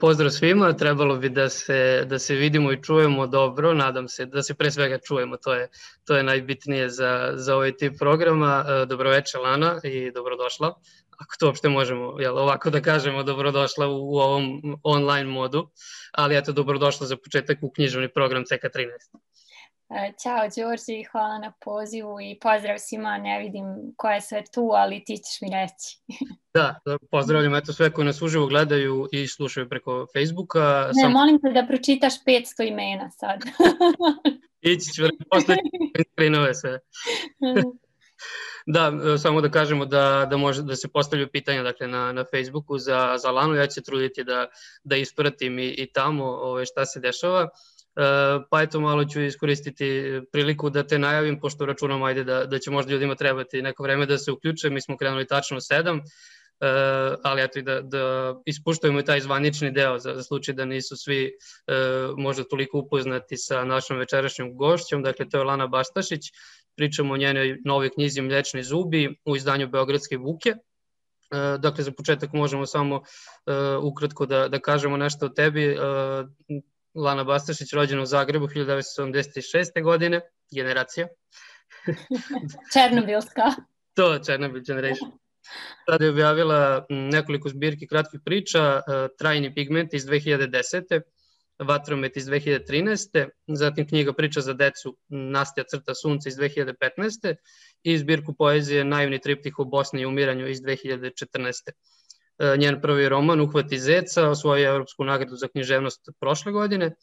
Pozdrav svima, trebalo bi da se vidimo i čujemo dobro, nadam se da se pre svega čujemo, to je najbitnije za ovaj tip programa. Dobroveče Lana i dobrodošla, ako to uopšte možemo ovako da kažemo, dobrodošla u ovom online modu, ali eto dobrodošla za početak u književni program CK13. Ćao Đorđe, hvala na pozivu i pozdrav svima, ne vidim ko je sve tu, ali ti ćeš mi reći. Da, pozdravljam eto sve koji nas uživo gledaju i slušaju preko Facebooka. Molim te da pročitaš 500 imena sad. Ići ću posle skrinove sve. Da, samo da kažemo da može da se postavljaju pitanja dakle, na Facebooku za Lanu, ja ću se truditi da ispratim i tamo šta se dešava. Pa eto malo ću iskoristiti priliku da te najavim, pošto računam ajde da će možda ljudima trebati neko vreme da se uključe, mi smo krenuli tačno u 7, ali eto i da ispuštujemo i taj zvanični deo za slučaj da nisu svi možda toliko upoznati sa našom večerašnjom gošćom, dakle to je Lana Bastašić, pričamo o njenoj novoj knjizi Mlečni zubi u izdanju Beogradske buke. Dakle za početak možemo samo ukratko da kažemo nešto o tebi. Lana Bastašić, rođena u Zagrebu 1976. godine, generacija. Černobilska. To, Černobil generation. Tada je objavila nekoliko zbirki kratkih priča, Trajni pigment iz 2010. Vatromet iz 2013. Zatim knjiga Priča za decu Nastja crta sunce iz 2015. I zbirku poezije Naivni triptih o Bosni i umiranju iz 2014. Njen prvi roman Uhvati zeca osvojio Evropsku nagradu za književnost prošle godine,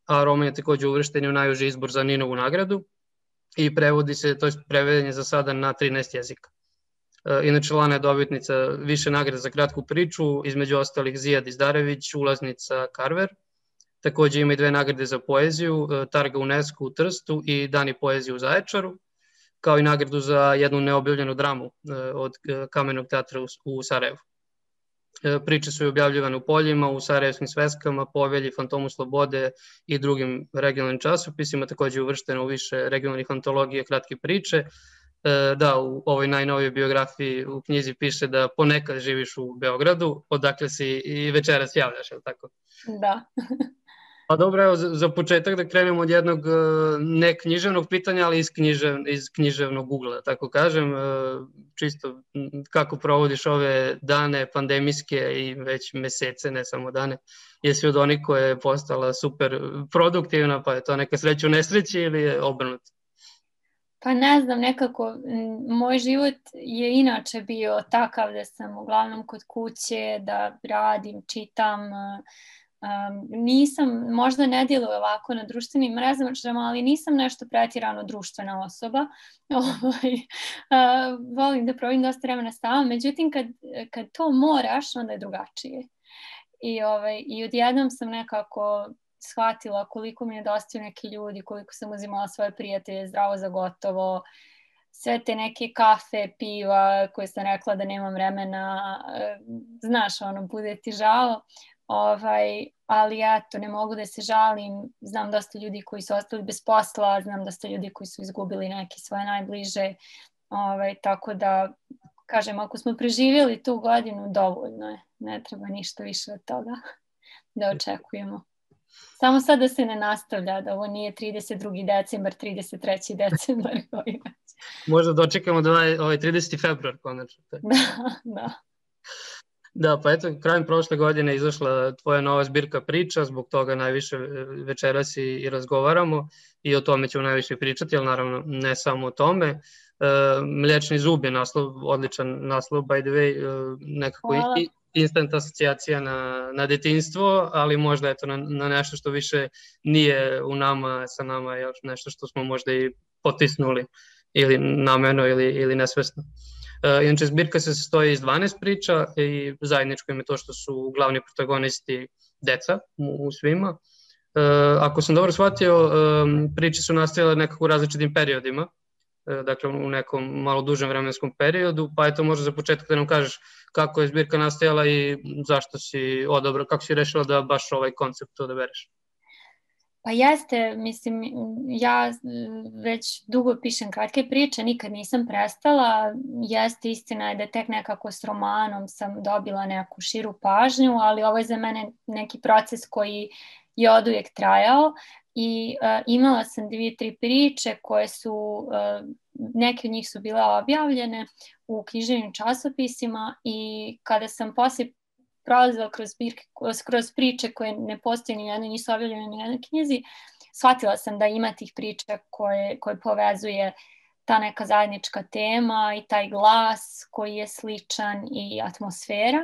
a roman je takođe uvršten u najuži izbor za Ninovu nagradu i prevodi se, to je preveden je za sada na 13 jezika. Inače, Lana je dobitnica više nagrada za kratku priču, između ostalih Zijad Izdarević, ulaznica Carver. Takođe ima i 2 nagrade za poeziju, Targa UNESCO u Trstu i Dani poezije u Zaječaru, kao i nagradu za jednu neobjavljenu dramu od Kamenog teatra u Sarajevu. Priče su objavljivane u Poljima, u Sarajevskim sveskama, Povelji, Fantomu slobode i drugim regionalnim časopisima, takođe uvršteno u više regionalnih antologija kratke priče. Da, u ovoj najnovijoj biografiji u knjizi piše da ponekad živiš u Beogradu, odakle si i večeras javljaš, je li tako? Da. Pa dobro, evo za početak da krenemo od jednog ne književnog pitanja, ali iz književnog ugla, tako kažem. Čisto kako provodiš ove dane pandemijske i već mesece, ne samo dane. Jesi od onih koja je postala super produktivna, pa je to neka sreća u nesreći ili je obrnuto? Pa ne znam, nekako moj život je inače bio takav da sam uglavnom kod kuće, da radim, čitam. Nisam, možda ne djeluje ovako na društvenim mrežama, ali nisam nešto pretjerano društvena osoba. Volim da provodim dosta vremena sama, međutim kad to moraš, onda je drugačije. I odjednom sam nekako shvatila koliko mi nedostaju neki ljudi, koliko sam uzimala svoje prijatelje zdravo za gotovo, sve te neke kafe, piva koje sam rekla da nemam vremena, znaš, bude ti žao. Ali eto, ne mogu da se žalim, znam dosta ljudi koji su ostali bez posla, znam dosta ljudi koji su izgubili neke svoje najbliže, tako da, kažem, ako smo preživjeli tu godinu, dovoljno je, ne treba ništa više od toga da očekujemo. Samo sad da se ne nastavlja, da ovo nije 32. decembar, 33. decembar. Možda dočekamo da ovaj 30. februar konačno. Da. Da, pa eto, krajem prošle godine izašla tvoja nova zbirka priča, zbog toga najviše večeras i razgovaramo i o tome ćemo najviše pričati, ali naravno ne samo o tome. Mlečni zub je naslov, odličan naslov, by the way, nekako instant asocijacija na detinjstvo, ali možda eto na nešto što više nije u nama, sa nama, još nešto što smo možda i potisnuli ili namerno ili nesvesno. Inače, zbirka se sastoji iz 12 priča i zajedničko im je to što su glavni protagonisti deca u svima. Ako sam dobro shvatio, priče su nastajale nekako u različitim periodima, dakle u nekom malo dužem vremenskom periodu, pa eto možda za početak da nam kažeš kako je zbirka nastajala i zašto si odabrao, kako si rešila da baš ovaj koncept odabereš. Pa jeste, mislim, ja već dugo pišem kratke priče, nikad nisam prestala. Jeste, istina je da tek nekako s romanom sam dobila neku širu pažnju, ali ovo je za mene neki proces koji je oduvijek trajao i imala sam 2-3 priče koje su, neke od njih su bile objavljene u književnim časopisima i kada sam poslije prolazila kroz priče koje ne postoje ni jednoj, nisu objavljene ni jednoj knjizi, shvatila sam da ima tih priča koje povezuje ta neka zajednička tema i taj glas koji je sličan i atmosfera.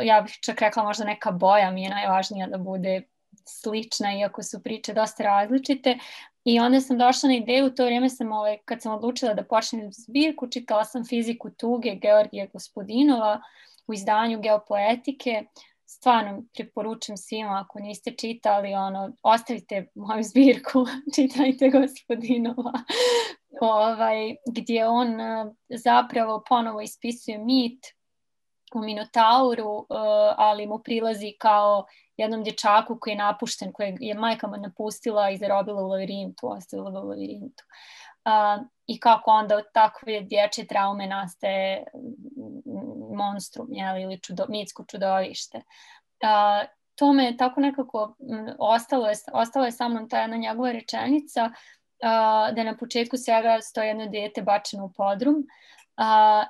Ja bih čak rekla možda neka boja mi je najvažnija da bude slična, iako su priče dosta različite. I onda sam došla na ideju, u to vrijeme sam, kad sam odlučila da počnem zbirku, čitala sam Fiziku tuge Georgija Gospodinova u izdanju Geopoetike. Stvarno preporučujem svima, ako niste čitali, ostavite moju zbirku, čitajte Gospodinova, gdje on zapravo ponovo ispisuje mit o Minotauru, ali mu prilazi kao jednom dječaku koji je napušten, kojeg je majka mu napustila i zarobila u lavirintu, ostavila u lavirintu. I kako onda od takve dječje traume nastaje monstrum, ili mitsko čudovište. To me tako nekako ostalo je sa mnom ta jedna njegova rečenica da na početku svega stoji jedno dijete bačeno u podrum.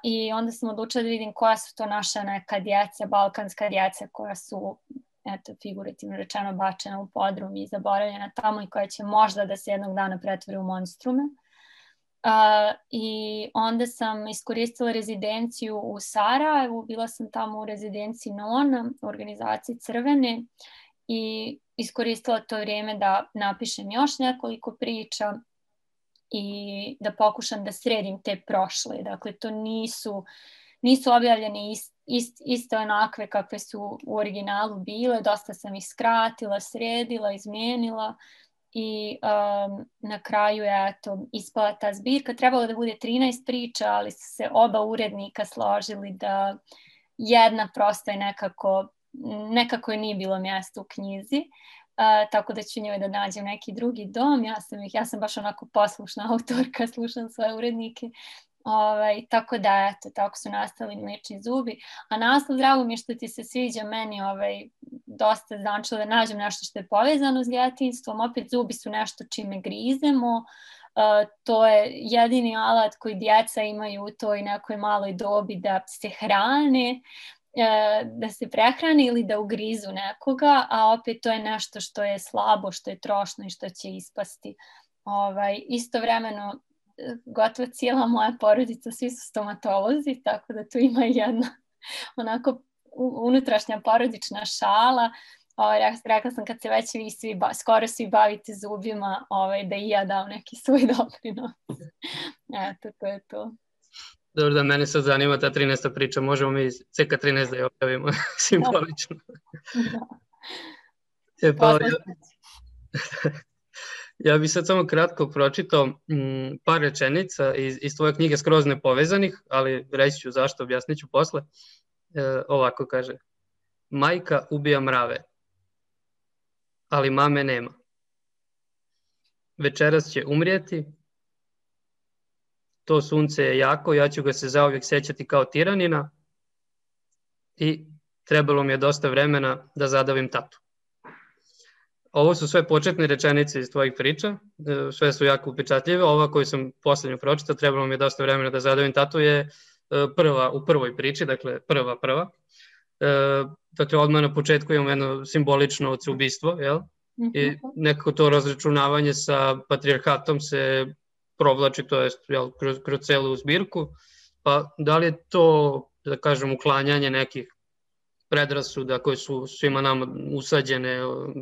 I onda sam odlučila da vidim koja su to naša neka djeca, balkanska djeca koja su, eto, figurativno rečeno bačena u podrum i zaboravljena tamo i koja će možda da se jednog dana pretvori u monstrume. I onda sam iskoristila rezidenciju u Sarajevu, bila sam tamo u rezidenciji Nona, u organizaciji Crvene, i iskoristila to vrijeme da napišem još nekoliko priča i da pokušam da sredim te prošle. Dakle, to nisu objavljene iste onakve kakve su u originalu bile, dosta sam ih skratila, sredila, izmijenila i na kraju je ispala ta zbirka. Trebalo da bude 13 priča, ali su se oba urednika složili da jedna prosto je nekako je nije bilo mjesto u knjizi. Tako da ću njoj da nađem neki drugi dom. Ja sam baš onako poslušna autorka, slušam svoje urednike. Tako da, eto, tako su nastali Mliječni zubi. A naslov, drago mi je što ti se sviđa, meni dosta značilo da nađem nešto što je povezano s djetinjstvom. Opet zubi su nešto čime grizemo. To je jedini alat koji djeca imaju u toj nekoj maloj dobi da se hrane, da se prehrani ili da ugrizu nekoga, a opet to je nešto što je slabo, što je trošno i što će ispasti. Istovremeno, gotovo cijela moja porodica, svi su stomatolozi, tako da tu ima jedna onako unutrašnja porodična šala. Rekla sam, kad se već vi skoro svi bavite zubima, da i ja dam neki svoj doprinos. Eto, to je to. Dobro, da mene sad zanima ta 13. priča, možemo mi CK13 da je objavimo simbolično. Da. Ja bih sad samo kratko pročitao par rečenica iz tvoje knjige Skroz nepovezanih, ali reći ću zašto, objasnit ću posle. Ovako kaže: majka ubija mrave, ali mame nema. Večeras će umrijeti, to sunce je jako, ja ću ga se zauvijek sećati kao tiranina i trebalo mi je dosta vremena da zadavim tatu. Ovo su sve početne rečenice iz tvojih priča, sve su jako upečatljive. Ova koju sam posljednju pročitao, trebalo mi je dosta vremena da zadavim tatu, je u prvoj priči, dakle prva. Dakle, odmah na početku imamo jedno simbolično odsoubistvo, jel? I nekako to razračunavanje sa patrijarhatom se provlači, to jest kroz celu zbirku. Pa da li je to, da kažem, uklanjanje nekih predrasuda koje su svima nama usađene,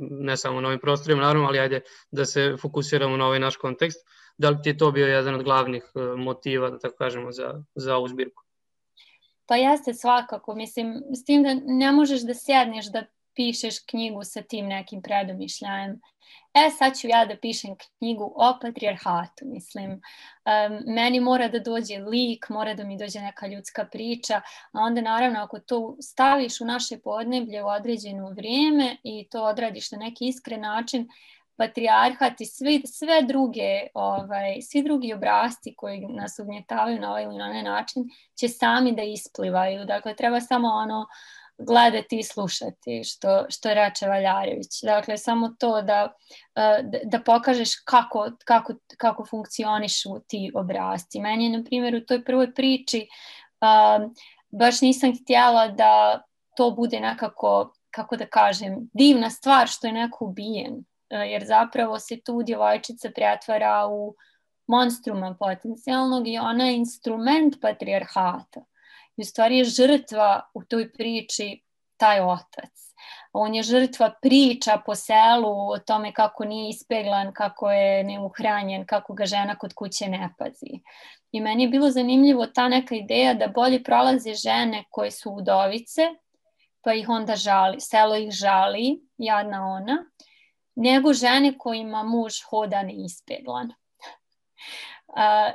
ne samo na ovim prostorima, naravno, ali ajde da se fokusiramo na ovaj naš kontekst. Da li ti je to bio jedan od glavnih motiva, da tako kažemo, za ovu zbirku? Pa jeste svakako, mislim, s tim da ne možeš da sjedneš da pišeš knjigu sa tim nekim predomišljajem. Sad ću ja da pišem knjigu o patrijarhatu, mislim. Meni mora da dođe lik, mora da mi dođe neka ljudska priča, a onda naravno ako to staviš u naše podneblje u određeno vrijeme i to odradiš na neki iskren način, patrijarhat i svi drugi obrasci koji nas ugnjetavaju na ovaj ili na onaj način će sami da isplivaju. Dakle, treba samo gledati i slušati, što reče Valjarević. Dakle, samo to da pokažeš kako funkcionišu ti obrasci. Meni je, na primjer, u toj prvoj priči baš nisam htjela da to bude nekako, kako da kažem, divna stvar što je neko ubijen. Jer zapravo se tu djevojčica pretvara u monstruma potencijalnog i ona je instrument patrijarhata. I u stvari je žrtva u toj priči taj otac. On je žrtva priča po selu o tome kako nije ispeglan, kako je neuhranjen, kako ga žena kod kuće ne pazi. I meni je bilo zanimljivo ta neka ideja da bolje prolaze žene koje su udovice, pa ih onda žali, selo ih žali, jadna ona, nego žene kojima muž hoda neispeglan.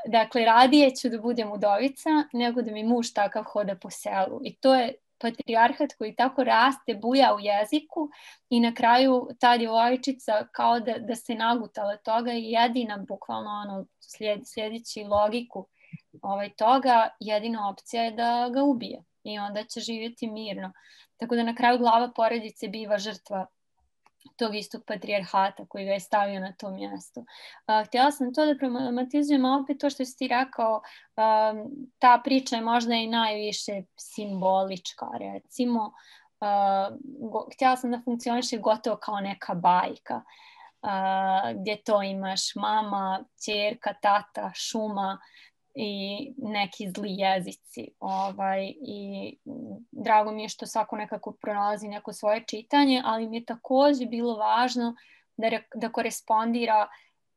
Dakle, radije ću da budem udovica nego da mi muž takav hoda po selu. I to je patrijarhat koji tako raste, buja u jeziku i na kraju ta djevojčica kao da se nagutala toga i jedina, bukvalno sljedeći logiku toga, jedina opcija je da ga ubije i onda će živjeti mirno. Tako da na kraju glava porodice biva žrtva tog istog patrijarhata koji ga je stavio na to mjesto. Htjela sam to da problematizujem, a opet to što si ti rekao, ta priča je možda i najviše simbolička, recimo. Htjela sam da funkcioniše gotovo kao neka bajka, gdje to imaš mama, ćerka, tata, šuma i neki zli jezici. I drago mi je što svako nekako pronalazi neko svoje čitanje, ali mi je također bilo važno da korespondira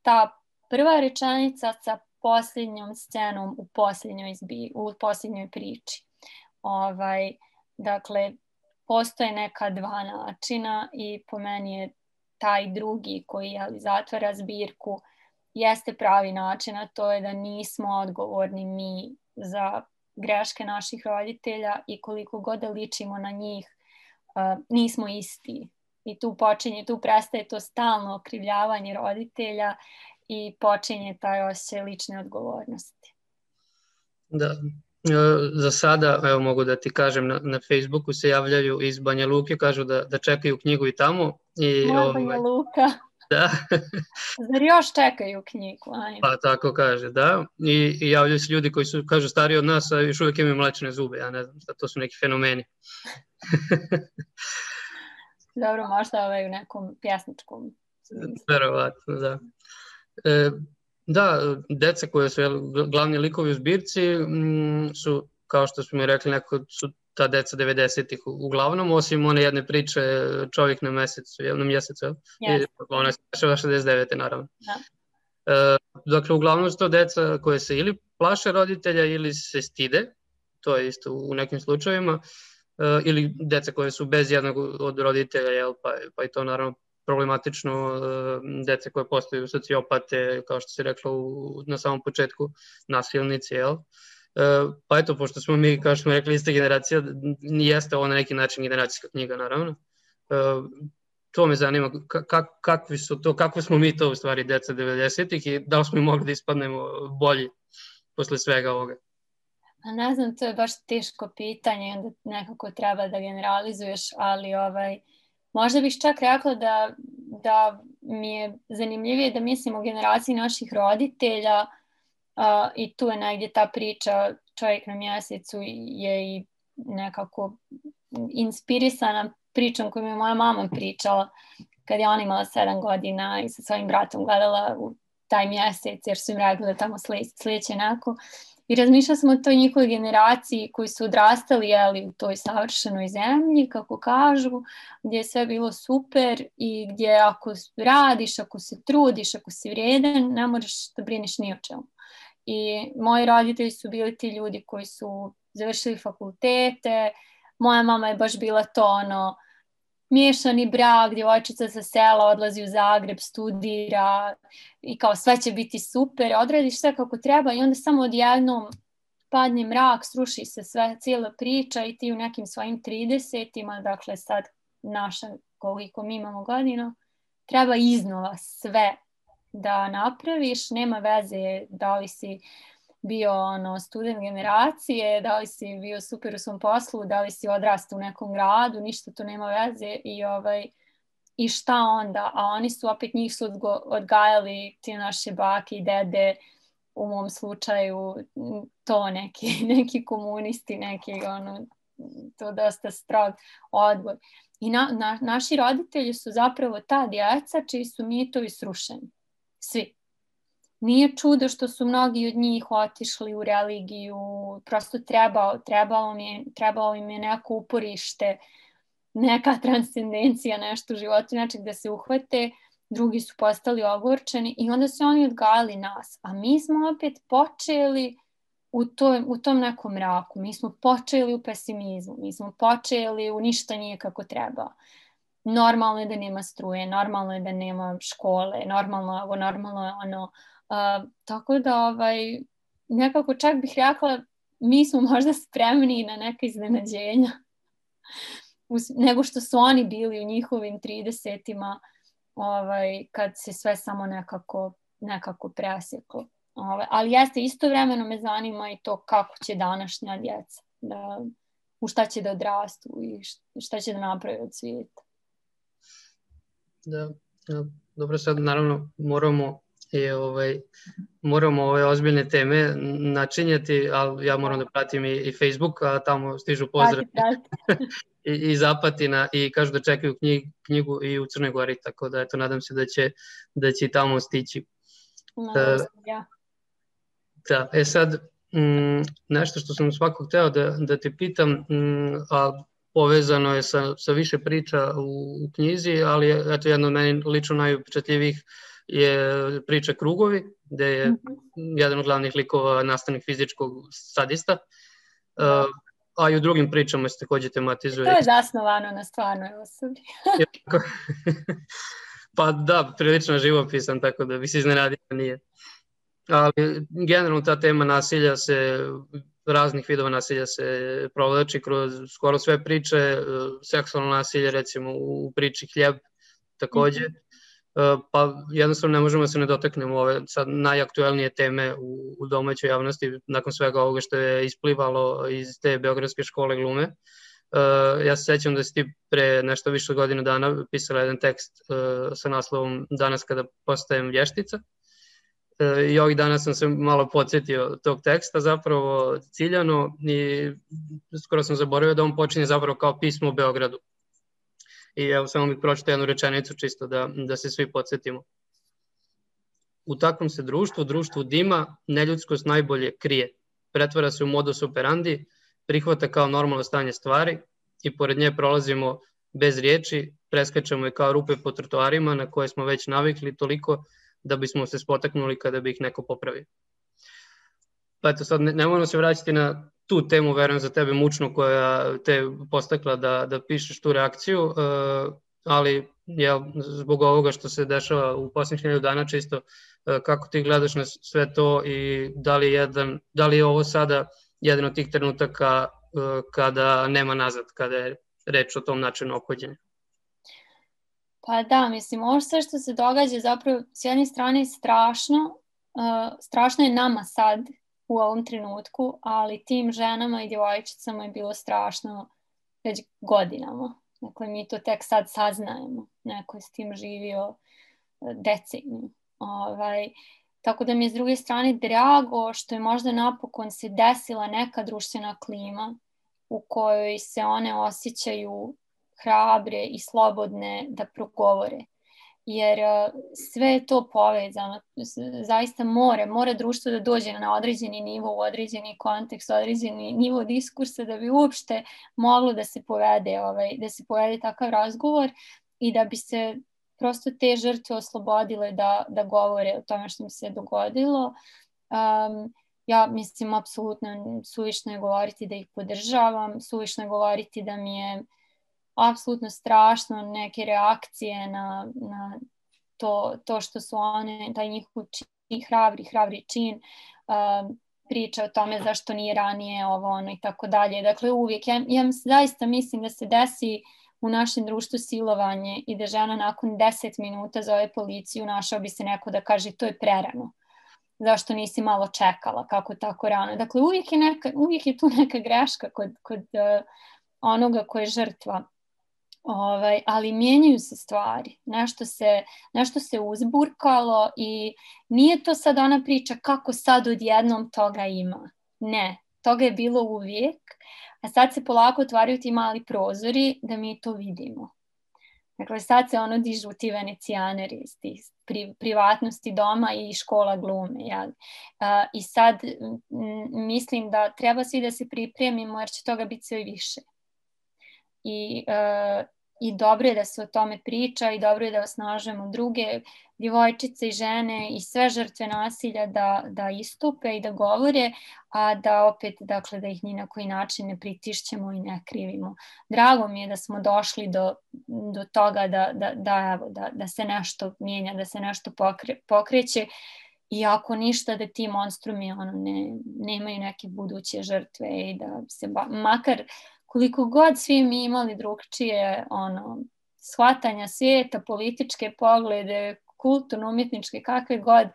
ta prva rečenica sa posljednjom scenom u posljednjoj priči. Dakle, postoje neka dva načina i po meni je taj drugi koji zatvara zbirku jeste pravi način, a to je da nismo odgovorni mi za greške naših roditelja i koliko god da ličimo na njih, nismo isti. I tu prestaje to stalno okrivljavanje roditelja i počinje taj osjećaj lične odgovornosti. Da. Za sada, evo mogu da ti kažem, na Facebooku se javljaju iz Banja Luke, kažu da čekaju knjigu i tamo. Moja Banja Luka. Da. Zar još čekaju knjigu? Pa tako kaže, da. I javljaju se ljudi koji su, kažu, stariji od nas, a još uvijek imaju mlečne zube. Ja ne znam šta, to su neki fenomeni. Dobro, možda u nekom pjesničkom. Verovatno, da. Da, deca koje su glavni likovi u zbirci su, kao što smo rekli, su ta deca 90-ih uglavnom, osim one jedne priče Čovjek na mjesecu. Yes. Ona se dešava 69. naravno. Da. Dakle, uglavnom su to deca koje se ili plaše roditelja ili se stide, to je isto u nekim slučajevima, ili deca koje su bez jednog od roditelja, pa je to naravno problematično, dece koje postaju sociopate, kao što si rekla na samom početku, nasilnici, jel? Pa eto, pošto smo mi, kao što smo rekli, ista generacija, jeste ovo na neki način generacijska knjiga, naravno. To me zanima, kako smo mi to u stvari deca 90-ih i da li smo mogli da ispadnemo bolji posle svega ovoga? Ne znam, to je baš teško pitanje, onda nekako treba da generalizuješ, ali možda bih čak rekla da mi je zanimljivije da mislim o generaciji naših roditelja i tu je negdje ta priča Čovjek na mjesecu je i nekako inspirisana pričom koju mi je moja mama pričala kad je ona imala 7 godina i sa svojim bratom gledala u taj mjesec jer su im rekli da tamo slijeće neko. I razmišljala sam o toj njihovoj generaciji koji su odrastali u toj savršenoj zemlji, kako kažu, gdje je sve bilo super i gdje ako radiš, ako se trudiš, ako si vrijedan, ne moraš da brineš ni o čemu. I moji roditelji su bili ti ljudi koji su završili fakultete, moja mama je baš bila to miješani brak, djevojčica sa sela odlazi u Zagreb, studira i kao sve će biti super, odradiš sve kako treba i onda samo odjednom padne mrak, sruši se sve, cijela priča i ti u nekim svojim 30-ima, dakle sad naša, koliko mi imamo godina, treba iznova sve da napraviš, nema veze da li si bio student generacije, da li si bio super u svom poslu, da li si odrastao u nekom gradu, ništa to nema veze i šta onda? A oni su opet, njih su odgajali ti naše bake i dede, u mom slučaju to neki komunisti, neki to dosta strog odbor. I naši roditelji su zapravo ta djeca čiji su mitovi srušeni. Svi. Nije čudo što su mnogi od njih otišli u religiju, prosto trebalo im je neko uporište, neka transcendencija, nešto u životu, znači da se uhvate, drugi su postali ogorčeni i onda su oni odgajali nas. A mi smo opet počeli u tom nekom mraku, mi smo počeli u pesimizmu, mi smo počeli u ništa nije kako treba. Normalno je da nema struje, normalno je da nema škole, normalno je ono. Tako da nekako čak bih rekla mi smo možda spremni na neka iznenađenja nego što su oni bili u njihovim 30-ima kad se sve samo nekako presjeklo. Ali jeste, istovremeno me zanima i to kako će današnja djeca, u šta će da odrastu i šta će da napravi od svijeta. Da, dobro, sad naravno moramo ove ozbiljne teme načinjati, ali ja moram da pratim i Facebook, a tamo stižu pozdrav i Zapatina i kažu da čekaju knjigu i u Crnoj Gori, tako da eto, nadam se da će i tamo stići. Da, sad, nešto što sam svakog hteo da te pitam, a povezano je sa više priča u knjizi, ali eto, jedno od meni lično najupečatljivijih je priča Krugovi, gde je jedan od glavnih likova nastavnik fizičkog sadista, a i u drugim pričama se takođe tematizuje. To je zasnovano na stvarnoj osobi. Pa da, prilično živopisan, tako da bi se iznenadio da nije. Ali generalno ta tema nasilja raznih vidova nasilja se provlači kroz skoro sve priče, seksualno nasilje recimo u priči Hljeb takođe, pa jednostavno ne možemo se ne dotaknemo ove sad najaktuelnije teme u domaćoj javnosti nakon svega ovoga što je isplivalo iz te Beogradske škole glume. Ja se sećam da si ti pre nešto više godina dana pisala jedan tekst sa naslovom Danas kada postajem vještica. I ovih dana sam se malo podsjetio tog teksta zapravo ciljano i skoro sam zaboravio da on počinje zapravo kao pismo o Beogradu. I evo samo bih pročitao jednu rečenicu čisto da se svi podsjetimo. U takvom se društvu dima, neljudskost najbolje krije. Pretvara se u modus operandi, prihvata kao normalno stanje stvari i pored nje prolazimo bez riječi, preskačemo je kao rupe po trotoarima na koje smo već navikli toliko da bismo se spotaknuli kada bi ih neko popravio. Pa eto, sad ne moramo se vraćati na tu temu, verujem za tebe mučnu, koja te postakla da pišeš tu reakciju, ali zbog ovoga što se dešava u posljednjih 1000 dana čisto, kako ti gledaš na sve to i da li je ovo sada jedan od tih trenutaka kada nema nazad, kada je reč o tom načinu ophođenja? Pa da, mislim, ovo sve što se događa zapravo s jedne strane strašno je nama sad u ovom trenutku, ali tim ženama i djevojčicama je bilo strašno već godinama. Dakle, mi to tek sad saznajemo. Neko je s tim živio deceniju. Tako da mi je s druge strane drago što je možda napokon se desila neka društvena klima u kojoj se one osjećaju hrabre i slobodne da progovore. Jer sve je to povezano. Zaista mora društvo da dođe na određeni nivo, u određeni kontekst, određeni nivo diskursa da bi uopšte moglo da se povede takav razgovor i da bi se prosto te žrtve oslobodile da govore o tome što im se dogodilo. Ja mislim, apsolutno suvišno je govoriti da ih podržavam, suvišno je govoriti da mi je apsolutno strašno, neke reakcije na to što su one, taj njihov čin, hrabri čin, priča o tome zašto nije ranije ovo ono i tako dalje. Dakle, uvijek, ja zaista mislim da se desi u našem društvu silovanje i da žena nakon 10 minuta zove policiju, našao bi se neko da kaže to je prerano. Zašto nisi malo čekala, kako tako rano. Dakle, uvijek je tu neka greška kod onoga ko je žrtva. Ali mijenjaju se stvari. Nešto se uzburkalo i nije to sad ona priča kako sad odjednom toga ima. Ne, toga je bilo uvijek, a sad se polako otvaraju ti mali prozori da mi to vidimo. Dakle, sad se dižu ti venecijaneri iz tih privatnosti doma i škola glume. I sad mislim da treba svi da se pripremimo jer će toga biti sve više. I dobro je da se o tome priča i dobro je da osnažujemo druge djevojčice i žene i sve žrtve nasilja da istupe i da govore, a da opet, dakle, da ih ni na koji način ne pritišćemo i ne krivimo. Drago mi je da smo došli do toga da se nešto mijenja, da se nešto pokreće i ako ništa da ti monstrumi nemaju neke buduće žrtve i da se makar koliko god svi mi imali drugčije shvatanja svijeta, političke poglede, kulturno-umjetničke, kakve god,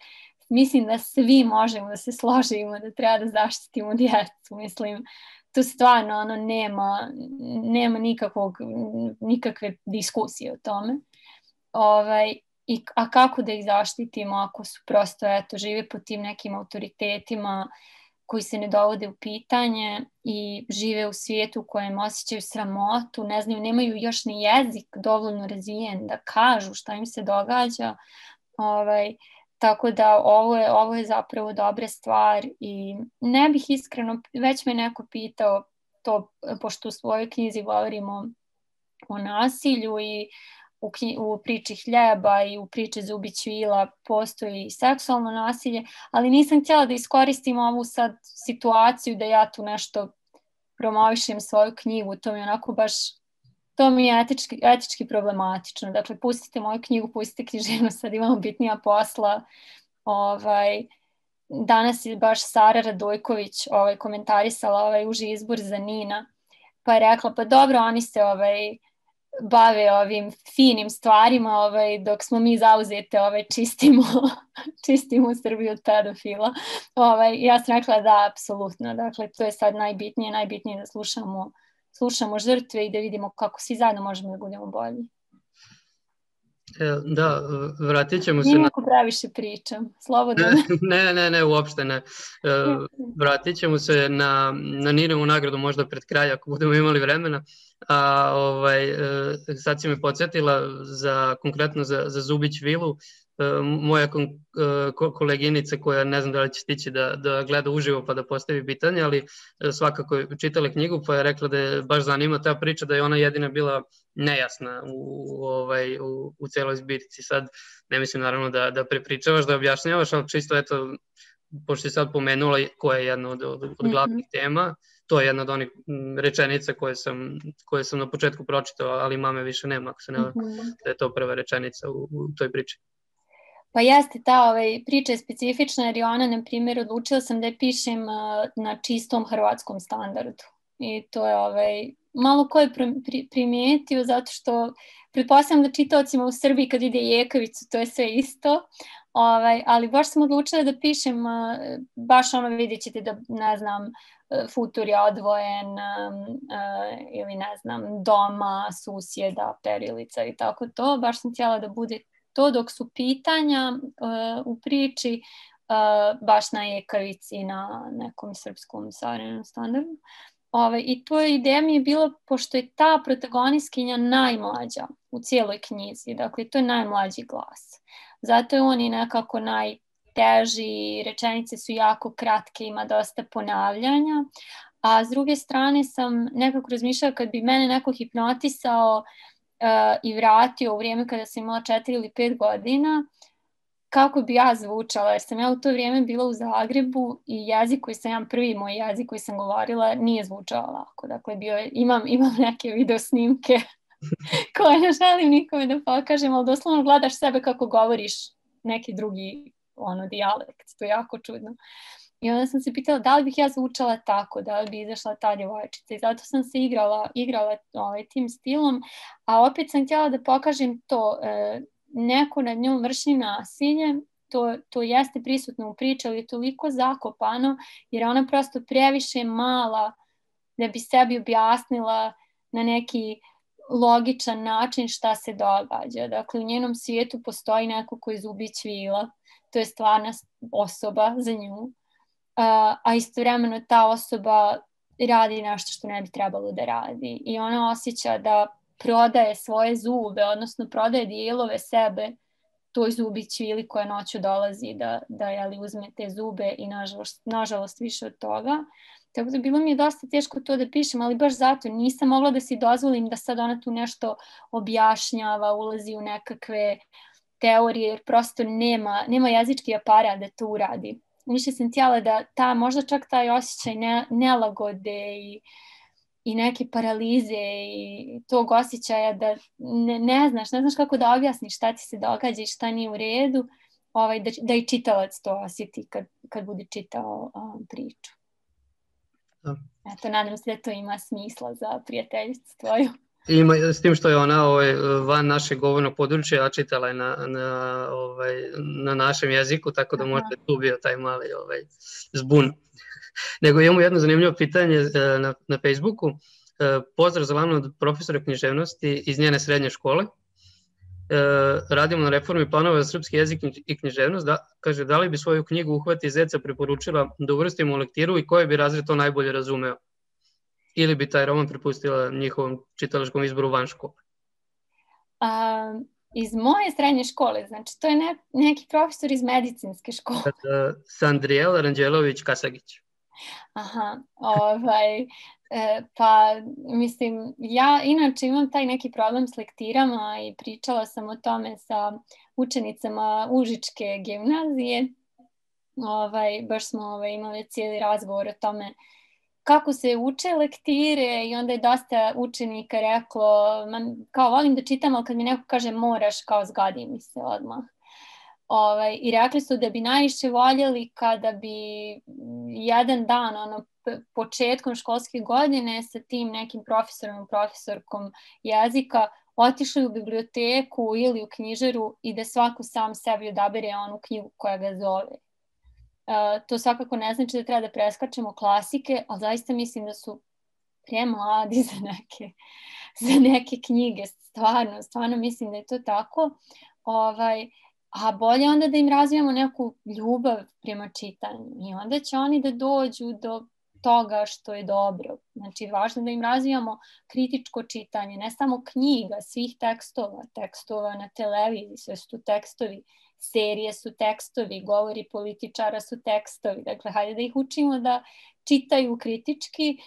mislim da svi možemo da se složimo da treba da zaštitimo djecu. Mislim, tu stvarno nema nikakve diskusije o tome. A kako da ih zaštitimo ako su prosto, žive pod tim nekim autoritetima koji se ne dovode u pitanje i žive u svijetu u kojem osjećaju sramotu, ne znaju, nemaju još ni jezik dovoljno razvijen da kažu šta im se događa. Tako da ovo je zapravo dobra stvar i ne bih iskreno, već me neko pitao to, pošto u svojoj knjizi govorimo o nasilju i u priči Hljeba i u priči Zubić Vila postoji seksualno nasilje, ali nisam htjela da iskoristim ovu sad situaciju da ja tu nešto promovišem svoju knjigu, to mi je onako baš, to mi je etički problematično. Dakle, pustite moju knjigu, pustite književnost, sad imamo bitnija posla. Danas je baš Sara Radojković komentarisala uži izbor za Nina, pa je rekla, pa dobro, oni se bave ovim finim stvarima, dok smo mi zauzete, čistimo Srbiju od pedofila. Ja sam rekla da, apsolutno. Dakle, to je sad najbitnije da slušamo žrtve i da vidimo kako svi zajedno možemo da budemo bolji. Da, vratit ćemo se Nije neko previše pričam, slobodno. Ne, uopšte ne. Vratit ćemo se na Ninovu nagradu možda pred kraj, ako budemo imali vremena. Sad si me podsjetila konkretno za Zubić Vilu. Moja koleginica koja ne znam da li će stići da gleda uživo pa da postavi pitanje, ali svakako je čitala knjigu pa je rekla da je baš zanima ta priča, da je ona jedina bila nejasna u celoj zbirci. Sad ne mislim naravno da prepričavaš, da objašnjavaš, ali čisto pošto je sad pomenula koja je jedna od glavnih tema, to je jedna od onih rečenica koje sam na početku pročitao, ali mame više nema, ako se ne da je to prva rečenica u toj priči. Pa jeste, ta priča je specifična jer je ona, na primjer, odlučila sam da je pišem na čistom hrvatskom standardu. I to je malo ko je primijetio, zato što pretpostavljam da čitaocima u Srbiji kad ide Jekavicu, to je sve isto. Ali baš sam odlučila da pišem, baš vidjet ćete da, ne znam, futur je odvojen ili ne znam, doma, susjeda, perilica i tako to. Baš sam htjela da bude to, dok su pitanja u priči baš na Jekavici, na nekom srpskom savremenom standardu. I to ideja mi je bila, pošto je ta protagonistkinja najmlađa u cijeloj knjizi, dakle to je najmlađi glas. Zato je on i nekako najteži, rečenice su jako kratke, ima dosta ponavljanja, a s druge strane sam nekako razmišljala kad bi mene neko hipnotisao i vratio u vrijeme kada sam imala 4 ili 5 godina, kako bi ja zvučala, jer sam ja u to vrijeme bila u Zagrebu i jezik koji sam, prvi moj jezik koji sam govorila nije zvučao lako. Dakle, imam neke video snimke koje ne želim nikome da pokažem, ali doslovno gledaš sebe kako govoriš neki drugi dijalekt. To je jako čudno. I onda sam se pitala da li bih ja zvučala tako, da li bi izašla ta djevojčica. I zato sam se igrala tim stilom, a opet sam htjela da pokažem to, neko nad njom vrši nasilje, to jeste prisutno u priči, ali je toliko zakopano, jer je ona prosto previše mala da bi sebi objasnila na neki logičan način šta se događa. Dakle, u njenom svijetu postoji neko koji zubi cvila, to je stvarna osoba za nju, a istovremeno ta osoba radi nešto što ne bi trebalo da radi. I ona osjeća da prodaje svoje zube, odnosno prodaje dijelove sebe toj zubi cvili koja noću dolazi da uzme te zube i nažalost više od toga. Tako da bilo mi je dosta teško to da pišem, ali baš zato nisam mogla da si dozvolim da sad ona tu nešto objašnjava, ulazi u nekakve teorije, jer prosto nema jezički aparat da to uradi. Više sam htjela da možda čak taj osjećaj nelagode i neke paralize i tog osjećaja da ne znaš kako da objasniš šta ti se događa i šta nije u redu, da i čitalac to osjeti kad bude čitao priču. Eto, nadam se da to ima smisla za prijateljicu tvoju. Ima, s tim što je ona van našeg govornog područja, a čitala je na našem jeziku, tako da možda je tu bio taj mali zbun. Nego imamo jedno zanimljivo pitanje na Facebooku. Pozdrav za Lanu od profesora književnosti iz njene srednje škole. Radimo na reformi planova za srpski jezik i književnost. Kaže, da li bi svoju knjigu Uhvati zeca preporučila da uvrstimo u lektiru i koji bi razred to najbolje razumeo? Ili bi taj roman prepustila njihovom čitalačkom izboru van škole? Iz moje srednje škole, znači to je neki profesor iz medicinske škole. Sandrijel Ranđelović-Kasagić. Aha, pa mislim, ja inače imam taj neki problem s lektirama i pričala sam o tome sa učenicama Užičke gimnazije. Baš smo imali cijeli razgovor o tome kako se uče lektire i onda je dosta učenika reklo, kao volim da čitam, ali kad mi neko kaže moraš, kao zgadi mi se odmah. I rekli su da bi najviše voljeli kada bi jedan dan, početkom školske godine sa tim nekim profesorom, profesorkom jezika otišli u biblioteku ili u knjižaru i da svako sam sebi odabere onu knjigu koja ga zove. To svakako ne znači da treba da preskačemo klasike, ali zaista mislim da su premladi za neke knjige. Stvarno mislim da je to tako. A bolje onda da im razvijamo neku ljubav prema čitanju i onda će oni da dođu do toga što je dobro. Znači, važno da im razvijamo kritičko čitanje, ne samo knjiga, svih tekstova na televiziji, sve su tu tekstovi, serije su tekstovi, govori političara su tekstovi. Dakle, hajde da ih učimo da čitaju kritički,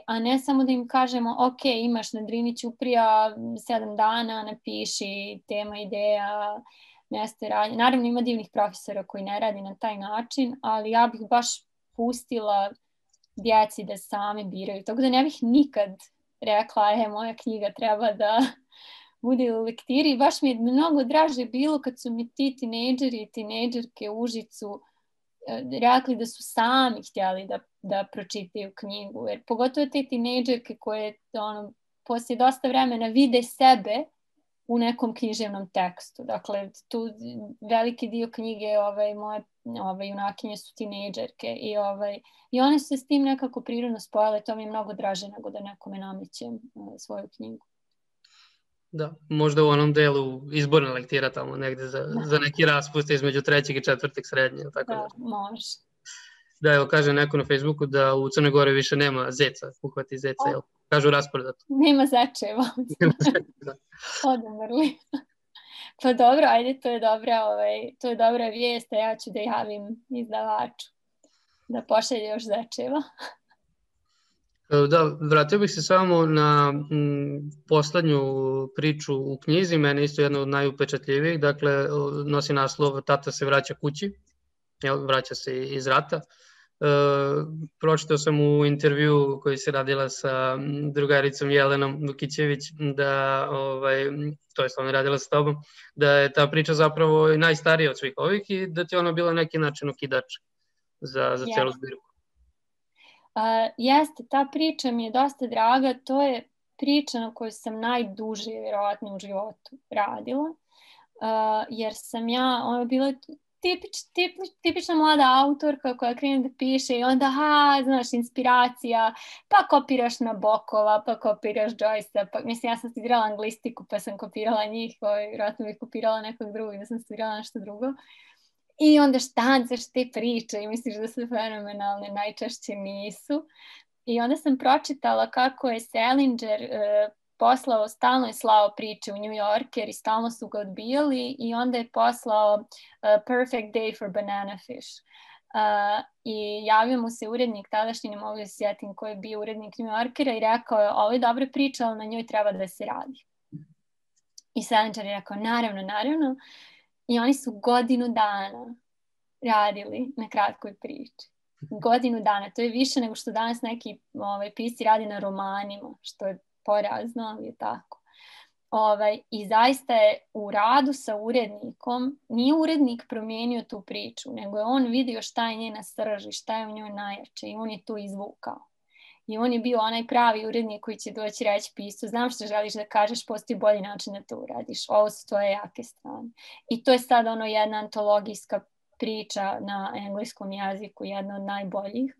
a ne samo da im kažemo ok, imaš na Drini Ćuprija 7 dana, napiši tema, ideja, mjesto radnje. Naravno ima divnih profesora koji ne radi na taj način, ali ja bih baš pustila djeci da sami biraju. Tako da ne bih nikad rekla, moja knjiga treba da bude u lektiri. Baš mi je mnogo draže bilo kad su mi ti tinejdžeri i tinejdžerke u Užicu rekli da su sami htjeli da pročitaju knjigu. Jer pogotovo te tinejdžerke koje poslije dosta vremena vide sebe u nekom književnom tekstu. Dakle, tu veliki dio knjige moje junakinje su tinejdžerke i one su se s tim nekako prirodno spojile. To mi je mnogo draže nego da nekome namećem svoju knjigu. Da, možda u onom delu izborna lektira tamo negde za neki raspust između 3. i 4. srednje. Tako da, može. Da, evo kaže neko na Facebooku da u Crnoj Gori više nema zeca, Uhvati zeca, jel? Kažu rasprodato. Nema zečeva. Odumrli. Pa dobro, ajde, to je dobra vijest, a ja ću da javim izdavaču da pošalje još zečeva. Da, vratio bih se samo na poslednju priču u knjizi, meni isto jedna od najupečatljivijih, dakle nosi naslov Tata se vraća kući, vraća se iz rata. Pročitao sam u intervju koji se radila sa drugaricom Jelenom Vukićević, da, to je ona radila sa tobom, da je ta priča zapravo najstarija od svih ovih i da ti je ona bila neki način okidač za celu zbirku. Jeste, ta priča mi je dosta draga, to je priča na kojoj sam najduže vjerovatno u životu radila, jer sam ja, ona bila tipična mlada autorka koja krene da piše i onda, znaš, inspiracija, pa kopiraš Nabokova, pa kopiraš Joyce-a, pa, mislim, ja sam studirala anglistiku, pa sam kopirala njih, vjerojatno bih kopirala nekog drugog, da sam studirala nešto drugo. I onda štancaš te priče i misliš da su fenomenalne, najčešće nisu. I onda sam pročitala kako je Salinger stalno je slao priče u New Yorker i stalno su ga odbijali i onda je poslao Perfect Day for Banana Fish. I javio mu se urednik, tadašnji, ne mogu da se sjetim ko je bio urednik New Yorkera i rekao je, ovo je dobra priča, ali na njoj treba da se radi. I Salinger je rekao, naravno. I oni su godinu dana radili na kratkoj priči. Godinu dana. To je više nego što danas neki pisci radi na romanima, što je porazno, ali je tako. I zaista je u radu sa urednikom, nije urednik promijenio tu priču, nego je on vidio šta je njena srž i šta je u njoj najjače i on je to izvukao. I on je bio onaj pravi urednik koji će doći reći piscu, znam što želiš da kažeš, postoji bolji način da to uradiš, ovo su tvoje jake strane. I to je sad jedna antologijska priča na engleskom jeziku, jedna od najboljih.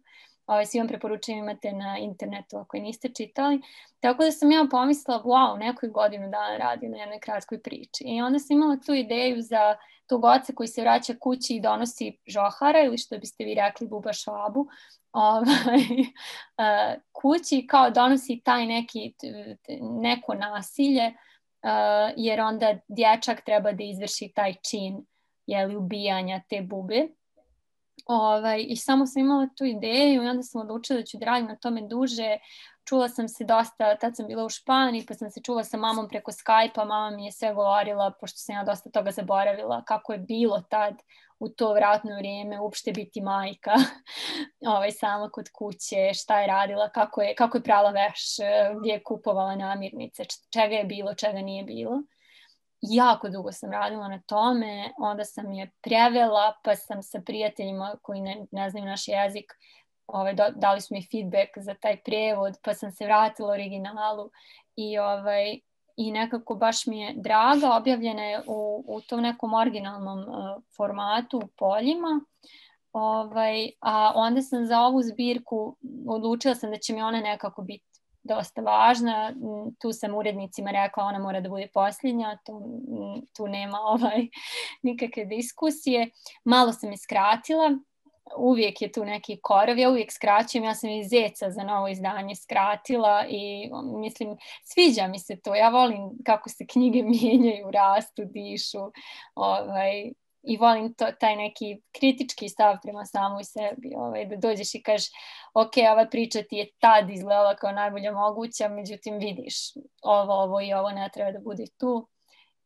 Svi vam preporučujem, imate na internetu ako je niste čitali. Tako da sam ja pomislila, wow, nekoj godinu dana radi na jednoj kratkoj priči. I onda sam imala tu ideju za tog oca koji se vraća kući i donosi žohara, ili što biste vi rekli buba švabu, kući, kao donosi taj neko nasilje, jer onda dječak treba da izvrši taj čin ubijanja te bube. I samo sam imala tu ideju i onda sam odlučila da ću da radim na tome duže. Čula sam se dosta, tad sam bila u Španiji, pa sam se čula sa mamom preko Skype-a, mama mi je sve govorila, pošto sam ja dosta toga zaboravila, kako je bilo tad u to vratno vrijeme uopšte biti majka sama kod kuće, šta je radila, kako je prala veš, gdje je kupovala namirnice, čega je bilo, čega nije bilo. Jako dugo sam radila na tome, onda sam je prevela, pa sam sa prijateljima koji ne znaju naš jezik, dali su mi feedback za taj prijevod, pa sam se vratila originalu i nekako baš mi je draga, objavljena je u tom nekom originalnom formatu u poljima, a onda sam za ovu zbirku odlučila sam da će mi ona nekako biti dosta važna. Tu sam urednicima rekla ona mora da bude posljednja, tu nema nikakve diskusije. Malo sam je skratila, uvijek je tu neki korov, ja uvijek skraćujem, ja sam i Zeca za novo izdanje skratila i mislim, sviđa mi se to, ja volim kako se knjige mijenjaju, rastu, dišu, i volim taj neki kritički stav prema samoj sebi, da dođeš i kažeš ok, ova priča ti je tad izgledala kao najbolja moguća, međutim vidiš ovo i ovo ne treba da bude tu.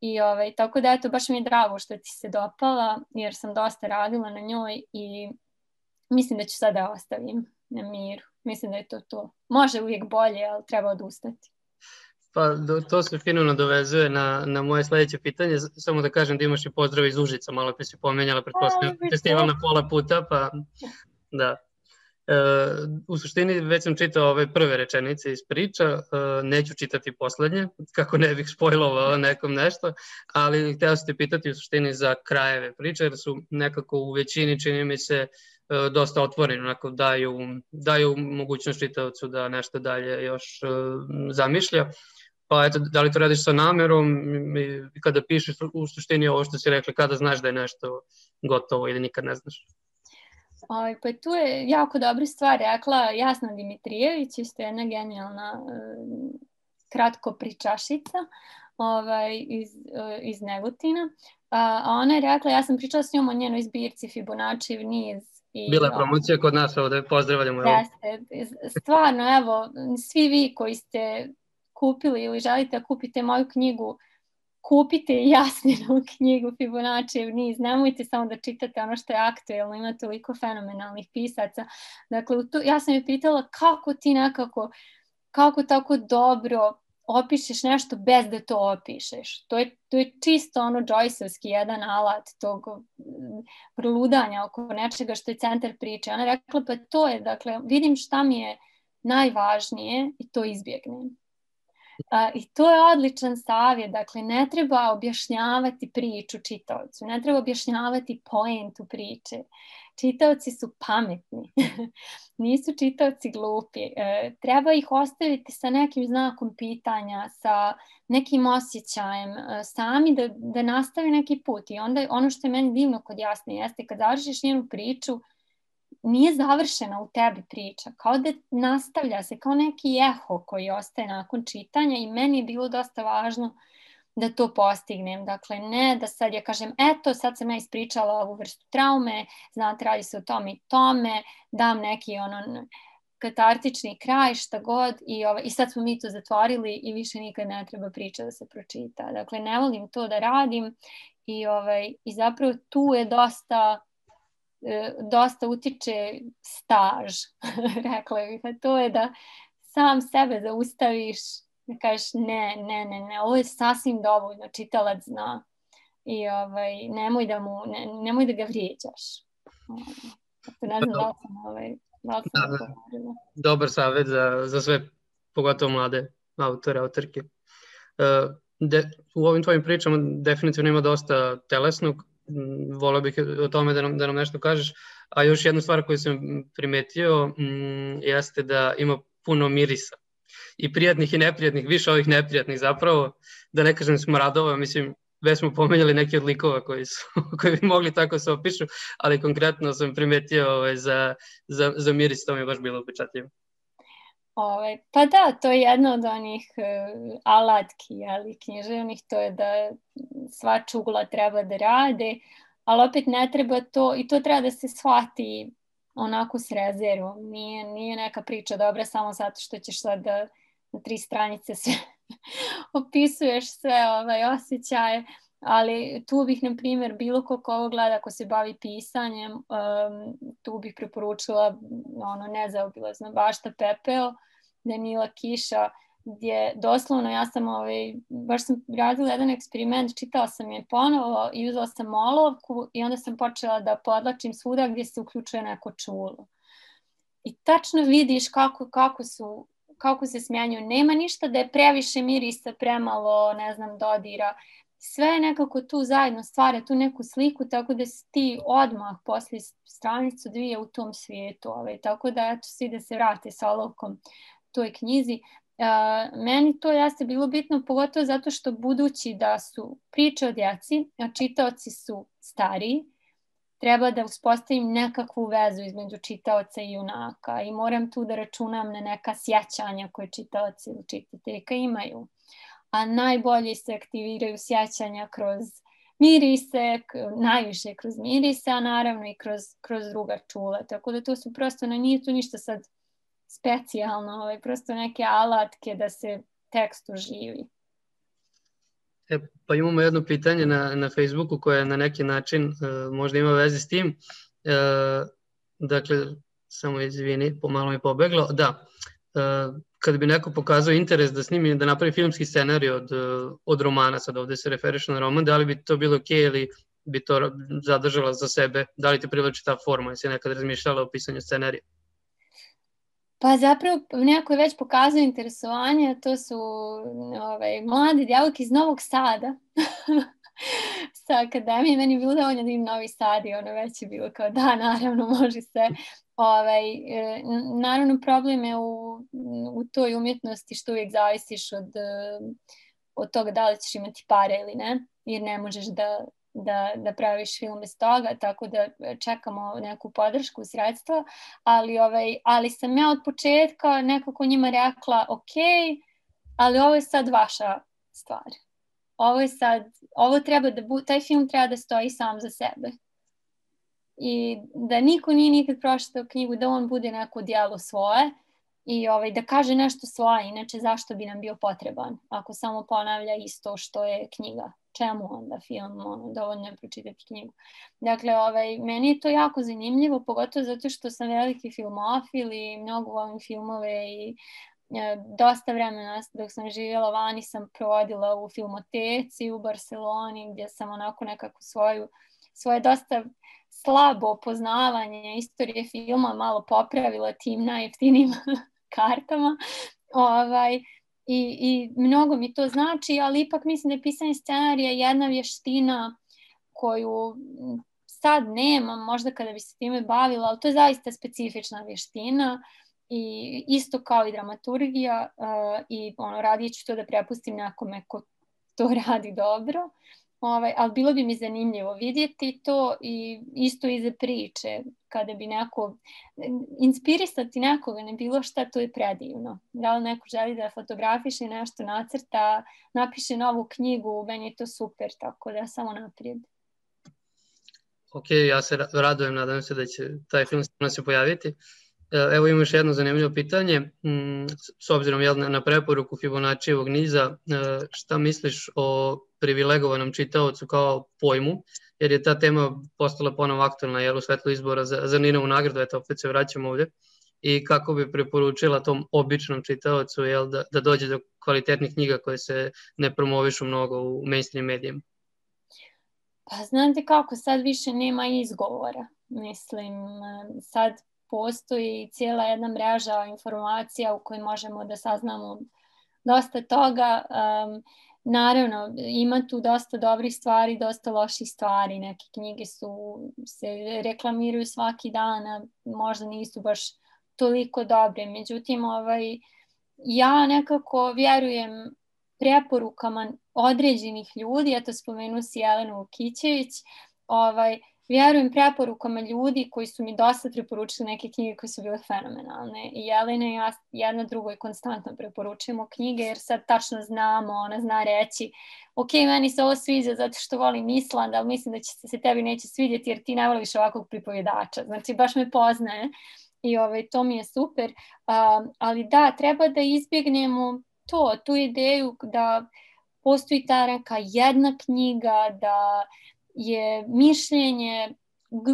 I tako da eto, baš mi je drago što ti se dopala, jer sam dosta radila na njoj i mislim da ću sada ostavim na miru. Mislim da je to. Može uvijek bolje, ali treba odustati. Pa to se fino nadovezuje na moje sljedeće pitanje. Samo da kažem da imaš i pozdrav iz Užica, malo pa si pomenjala festival na pola puta, pa da. U suštini već sam čitao ove prve rečenice iz priča, neću čitati poslednje, kako ne bih spojlovao nekom nešto, ali hteo sam te pitati u suštini za krajeve priče, jer su nekako u većini, čini mi se, dosta otvoreni, onako daju mogućnost čitavcu da nešto dalje još zamišlja. Pa eto, da li to radiš sa namerom i kada pišeš u suštini ovo što si rekli, kada znaš da je nešto gotovo ili nikad ne znaš? Pa tu je jako dobra stvar rekla Jasna Dimitrijević, isto jedna genijalna kratko pričašica iz Negotina. A ona je rekla, ja sam pričala s njom o njenoj zbirci Fibonaccijev niz. Bila je promocija kod nas ovde, pozdravljamo. Jeste, stvarno, evo, svi vi koji ste kupili ili želite da kupite moju knjigu, kupite Jasminu knjigu Fibonaccijev niz, nemojte samo da čitate ono što je aktuelno, ima toliko fenomenalnih pisaca. Dakle, ja sam je pitala kako ti nekako, kako tako dobro opišeš nešto bez da to opišeš. To je čisto ono Joyceovski jedan alat tog proludanja oko nečega što je centar priče. Ona rekla, pa to je, dakle, vidim šta mi je najvažnije i to izbjegnem. I to je odličan savjet, dakle ne treba objašnjavati priču čitaocu, ne treba objašnjavati poentu priče. Čitaoci su pametni, nisu čitaoci glupi. Treba ih ostaviti sa nekim znakom pitanja, sa nekim osjećajem, sami da nastavi neki put. I onda ono što je meni divno kod Jasne jeste kad završiš njenu priču, nije završena u tebi priča, kao da nastavlja se, kao neki eho koji ostaje nakon čitanja i meni je bilo dosta važno da to postignem. Dakle, ne da sad ja kažem, eto, sad sam ja ispričala ovu vrstu traume, znate, radi se o tome i tome, dam neki katartični kraj, šta god, i sad smo mi to zatvorili i više nikad ne treba priča da se pročita. Dakle, ne volim to da radim i zapravo tu je dosta utiče staž, rekla bih, a to je da sam sebe zaustaviš, da kažeš ne, ovo je sasvim dovoljno, čitalac zna i nemoj da ga vrijeđaš. Ne znam da li sam govorila. Dobar savjet za sve, pogotovo mlade autore, autorke. U ovim tvojim pričama definitivno ima dosta telesnog, voleo bih o tome da nam nešto kažeš, a još jedna stvar koju sam primetio jeste da ima puno mirisa i prijatnih i neprijatnih, više ovih neprijatnih zapravo, da ne kažem smradova, mislim, već smo pomenjali neki od likova koji bi mogli tako se opišu, ali konkretno sam primetio za miris, to mi je baš bilo upečatljivo. Pa da, to je jedno od onih alatki, književnih, to je da sva čugla treba da rade, ali opet ne treba to, i to treba da se shvati onako s rezervom. Nije neka priča dobra samo zato što ćeš sad da na 3 stranice sve opisuješ sve osjećaje, ali tu bih, na primjer, bilo ko ovo gleda, ako se bavi pisanjem, tu bih preporučila Nezaobilazna bašta Pepeo, Danila Kiša, gdje doslovno ja sam, baš sam radila jedan eksperiment, čitala sam je ponovo i uzela sam olovku i onda sam počela da podlačim svuda gdje se uključuje neko čulo. I tačno vidiš kako se smjenjuju. Nema ništa da je previše mirisa, premalo, dodira. Sve je nekako tu zajedno stvara tu neku sliku, tako da si ti odmah posle stranicu 2 u tom svijetu. Tako da eto svi da se vrate sa olovkom toj knjizi. Meni to jeste bilo bitno, pogotovo zato što budući da su priče o djeci, a čitaoci su stariji, treba da uspostavim nekakvu vezu između čitaoca i junaka i moram tu da računam na neka sjećanja koje čitaoci ili čitateljka imaju. A najbolje se aktiviraju sjećanja kroz mirise, najviše kroz mirise, a naravno i kroz druga čula. Tako da to su prosto, nije tu ništa sad specijalno, prosto neke alatke da se tekst oživi. Pa imamo jedno pitanje na Facebooku koje na neki način možda ima veze s tim. Dakle, samo izvini, pomalo mi pobeglo. Da, kada bi neko pokazao interes da snimi, da napravi filmski scenarij od romana, sad ovde se referiš na roman, da li bi to bilo okej ili bi to zadržala za sebe? Da li ti privlači ta forma? Jesi nekad razmišljala o pisanju scenarija? Pa zapravo neko je već pokazao interesovanje, to su mlade djevojke iz Novog Sada sa akademije. Meni je bilo dovoljno da im Novi Sad i već je bilo kao da, naravno, može se. Naravno, problem je u toj umjetnosti što uvijek zavisiš od toga da li ćeš imati pare ili ne, jer ne možeš da praviš film bez toga, tako da čekamo neku podršku, sredstva, ali sam ja od početka nekako njima rekla ok, ali ovo je sad vaša stvar. Taj film treba da stoji sam za sebe. I da niko nije nikad pročitao knjigu, da on bude neko djelo svoje, i da kaže nešto svoje, inače zašto bi nam bio potreban ako samo ponavlja isto što je knjiga. Čemu onda film, dovoljno je pročitati knjigu. Dakle, meni je to jako zanimljivo, pogotovo zato što sam veliki filmofil i mnogo volim filmove i dosta vremena dok sam živjela vani sam provodila u filmoteci u Barceloni gdje sam onako nekako svoje dosta slabo poznavanje istorije filma malo popravila tim najjeftinijim kartama. I mnogo mi to znači, ali ipak mislim da je pisanje scenarija jedna vještina koju sad nemam, možda kada bi se time bavila, ali to je zaista specifična vještina i isto kao i dramaturgija i radije ću to da prepustim nekome ko to radi dobro. Ali bilo bi mi zanimljivo vidjeti to i isto iza priče, kada bi inspirisati nekoga, ne bilo šta, to je predivno. Da li neko želi da fotografiše nešto, nacrta, napiše novu knjigu, meni je to super, tako da samo naprijed. Ok, ja se radujem, nadam se da će taj film se pojaviti. Evo imam još jedno zanimljivo pitanje, s obzirom na preporuku Fibonaccijevog niza, šta misliš o privilegovanom čitaocu kao pojmu, jer je ta tema postala ponovo aktualna u svetlu izbora za Ninovu nagradu, eto opet se vraćamo ovdje, i kako bi preporučila tom običnom čitaocu da dođe do kvalitetnih knjiga koje se ne promovišu mnogo u mainstream medijima? Pa znate kako, sad više nema izgovora, mislim, sad postoji cijela jedna mreža informacija u kojoj možemo da saznamo dosta toga. Naravno, ima tu dosta dobrih stvari, dosta loših stvari. Neke knjige se reklamiraju svaki dan, a možda nisu baš toliko dobre. Međutim, ja nekako vjerujem preporukama određenih ljudi, eto spomenu si Jelenu Vukićević, vjerujem preporukama ljudi koji su mi dosta preporučili neke knjige koje su bile fenomenalne. I Jelena i ja jedna drugoj konstantno preporučujemo knjige jer sad tačno znamo, ona zna reći ok, meni se ovo sviđa zato što volim Island, ali mislim da će se tebi neće svidjeti jer ti ne voliš ovakvog pripovjedača. Znači baš me poznaje i to mi je super. Ali da, treba da izbjegnemo tu ideju da postoji ta neka jedna knjiga, da je mišljenje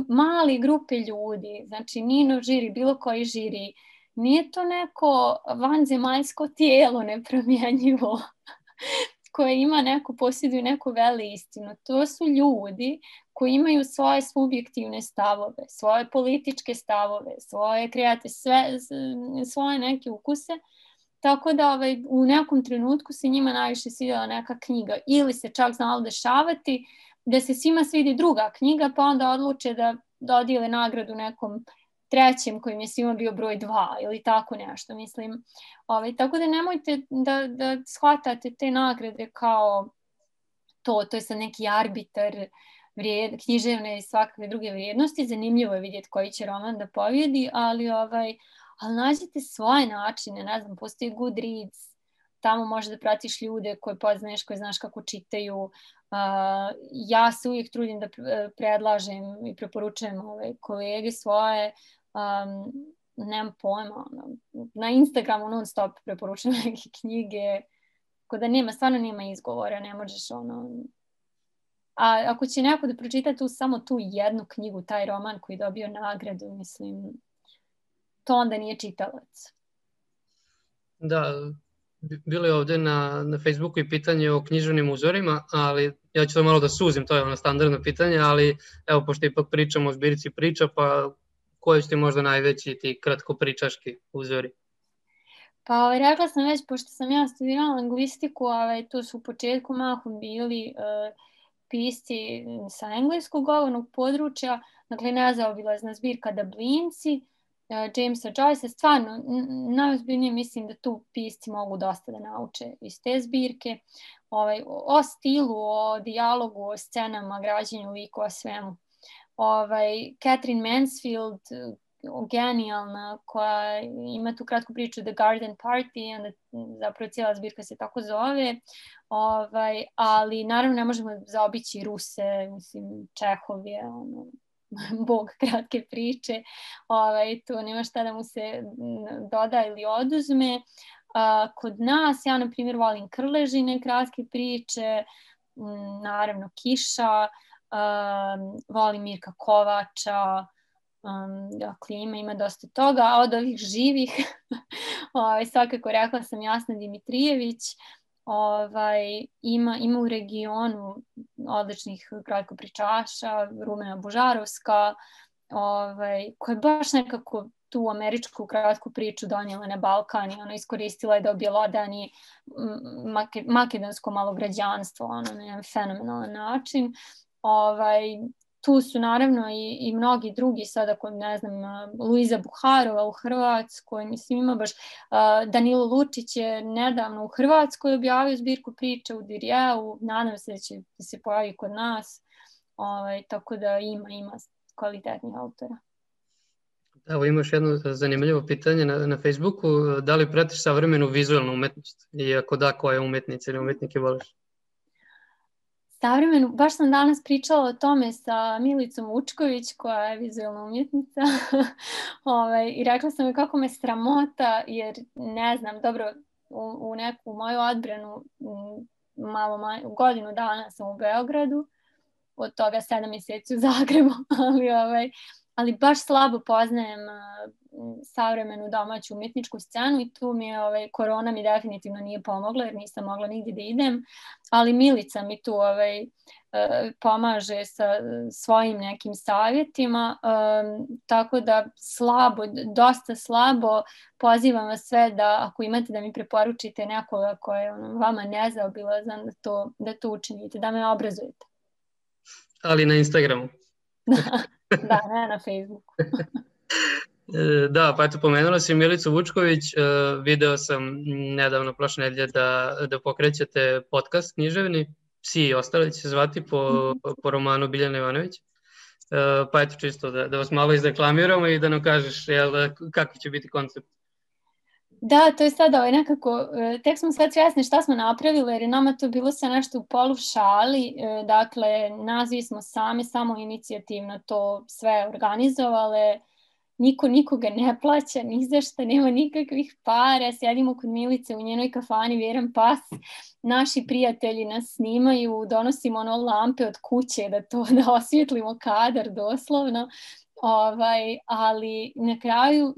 mali grupe ljudi, znači Nino žiri, bilo koji žiri, nije to neko vanzemaljsko tijelo nepromjenjivo koje ima posjeduje neku veleistinu. To su ljudi koji imaju svoje subjektivne stavove, svoje političke stavove, svoje svoje neke ukuse. Tako da u nekom trenutku se njima najviše svidjela neka knjiga ili se čak znalo dešavati da se svima svidi druga knjiga pa onda odluče da dodijele nagradu nekom trećem kojim je svima bio broj 2 ili tako nešto, mislim. Tako da nemojte da shvatate te nagrade kao to je sad neki arbitar književne i svakakve druge vrijednosti. Zanimljivo je vidjeti koji će roman da pobjedi, ali nađite svoje načine, ne znam, postoji Goodreads, tamo možeš da pratiš ljude koje poznaješ, koje znaš kako čitaju. Ja se uvijek trudim da predlažem i preporučujem kolege svoje, nemam pojma, na Instagramu non stop preporučujem neke knjige, tako da stvarno nema izgovora, ne možeš A ako će neko da pročita samo tu jednu knjigu, taj roman koji je dobio nagradu, mislim, to onda nije čitalac. Da, bilo je ovdje na Facebooku i pitanje o književnim uzorima, ali ja ću to malo da suzim, to je standardno pitanje, ali evo, pošto ipak pričamo o zbirci priča, pa koji su ti možda najveći ti kratkopričaški uzori? Pa rekla sam već, pošto sam ja studirala lingvistiku, to su u početku mahom bili pisci sa engleskog govornog područja, dakle nezaobilazna zbirka Dublinci, Jamesa Joyce, stvarno najozbiljnije mislim da tu pisci mogu dosta da nauče iz te zbirke, o stilu, o dijalogu, o scenama, građenju likova, svemu. Catherine Mansfield, genijalna, koja ima tu kratku priču The Garden Party, onda zapravo cijela zbirka se tako zove, ali naravno ne možemo zaobići Ruse, mislim, Čehov je bog kratke priče, tu nema šta da mu se doda ili oduzme. Kod nas, ja na primjer volim Krležine kratke priče, naravno Kiša, volim Mirka Kovača, dakle ima dosta toga, a od ovih živih svakako rekla sam Jasna Dimitrijević, ima u regionu odličnih kratkopričaša, Rumena Bužarovska, koja je baš nekako tu američku kratku priču donijela na Balkan i iskoristila je da objelodani makedonsko malograđanstvo na jedan fenomenalan način. Tu su naravno i mnogi drugi sada, ne znam, Luiza Buharova u Hrvatskoj, mislim ima baš, Danilo Lučić je nedavno u Hrvatskoj objavio zbirku priče u Dirjeu, nadam se da će se pojavi kod nas, tako da ima kvalitetnih autora. Evo imaš jedno zanimljivo pitanje na Facebooku, da li pratiš savremenu vizualnu umetnost i ako da, koje umetnice ili umetnike voliš? Savremenu, baš sam danas pričala o tome sa Milicom Vučković, koja je vizualna umjetnica i rekla sam joj kako me sramota, jer ne znam, dobro, u neku moju odbranu godinu dana sam u Beogradu, od toga 7 mjeseci u Zagrebu, ali baš slabo poznajem savremenu domaću umjetničku scenu i tu mi je, korona mi definitivno nije pomogla jer nisam mogla nigdje da idem, ali Milica mi tu pomaže sa svojim nekim savjetima, tako da dosta slabo pozivam vas sve da ako imate da mi preporučite nekoga koji je vama nezaobilazan, da to učinite, da me obrazujete. Ali na Instagramu. Da, ne na Facebooku. Da, pa eto, pomenula si Milicu Vučković, video sam nedavno prošle nedelje da pokrećete podcast književni, Psi i ostali će se zvati po romanu Biljane Ivanović, pa eto čisto da vas malo izreklamiramo i da nam kažeš kakav će biti koncept. Da, to je sada nekako, tek smo sve svjesni šta smo napravili jer je nama to bilo sve nešto u polu šali, dakle nazvi smo samo inicijativno to sve organizovale, niko nikoga ne plaća, ni za šta, nema nikakvih para, sjedimo kod Milice u njenoj kafani Vjeran pas, naši prijatelji nas snimaju, donosimo lampe od kuće da osvjetlimo kadar doslovno. Ali na kraju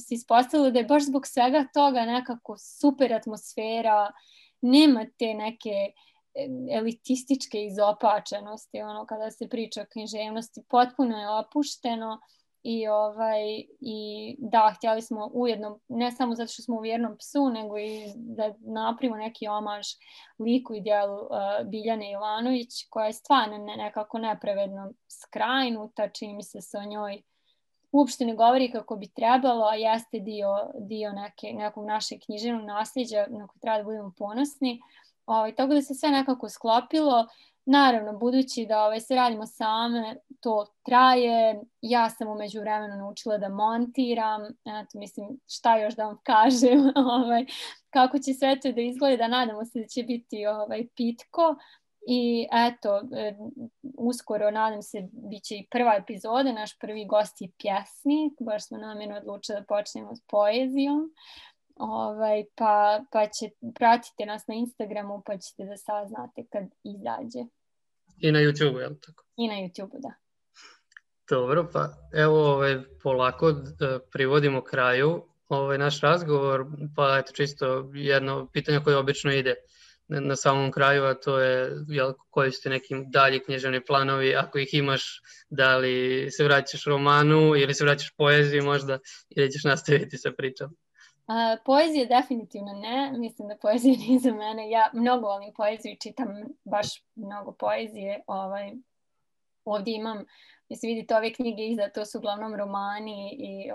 se ispostavilo da je baš zbog svega toga nekako super atmosfera, nema te neke elitističke izopačenosti, kada se priča o književnosti, potpuno je opušteno i da, htjeli smo ujedno, ne samo zato što smo u Vjernom psu, nego i da napravimo neki omaž liku i djelu Biljane Ivanović, koja je stvarno nekako nepravedno skrajnuta, čini mi se o njoj uopšte ne govori kako bi trebalo, a jeste dio nekog našeg književnog nasljeđa na koji treba da budemo ponosni. Tako da se sve nekako sklopilo. Naravno, budući da se radimo same, to traje. Ja sam u međuvremenu naučila da montiram. Eto, mislim, šta još da vam kažem. Kako će sve to da izgleda, nadamo se da će biti pitko. I eto, uskoro, nadam se, bit će i prva epizoda. Naš prvi gost je pjesnik. Baš smo namjerno odlučili da počnemo s poezijom. Pa pratite nas na Instagramu pa ćete da saznate kad izađe. I na YouTube, je li tako? I na YouTube, da. Dobro, pa evo polako privodimo kraju naš razgovor, pa eto čisto jedno pitanje koje obično ide na samom kraju, a to je koji su ti neki dalji književni planovi, ako ih imaš, da li se vraćaš romanu ili se vraćaš poeziji možda ili ćeš nastaviti sa pričom? Poezije definitivno ne, mislim da poezija nije za mene, ja mnogo volim poeziju i čitam baš mnogo poezije, ovdje imam, mislim vidite ove knjige iza, to su uglavnom romani i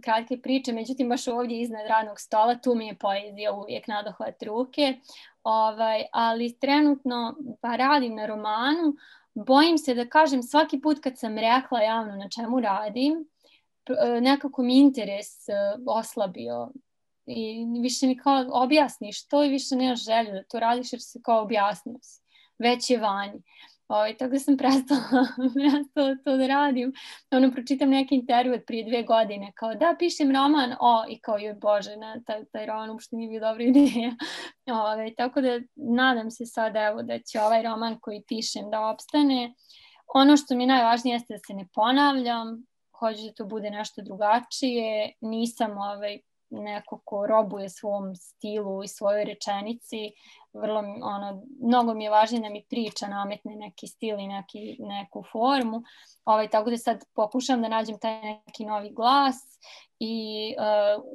kratke priče, međutim baš ovdje iznad radnog stola, tu mi je poezija uvijek nadohvat ruke, ali trenutno pa radim na romanu, bojim se da kažem svaki put kad sam rekla javno na čemu radim, nekako mi interes oslabio i više mi kao objasniš to i više nemaš želju da to radiš jer se kao objasnio si, već je vani. Tako da sam prestala to da radim. Pročitam neki intervju od prije 2 godine, kao da pišem roman, i kao joj Bože, taj roman uopšte nije bio dobra ideja. Tako da nadam se sad evo da će ovaj roman koji pišem da opstane. Ono što mi je najvažnije jeste da se ne ponavljam, hoću da to bude nešto drugačije, nisam neko ko robuje svom stilu i svojoj rečenici, mnogo mi je važnije da mi priča nametne neki stil i neku formu, tako da sad pokušam da nađem taj neki novi glas i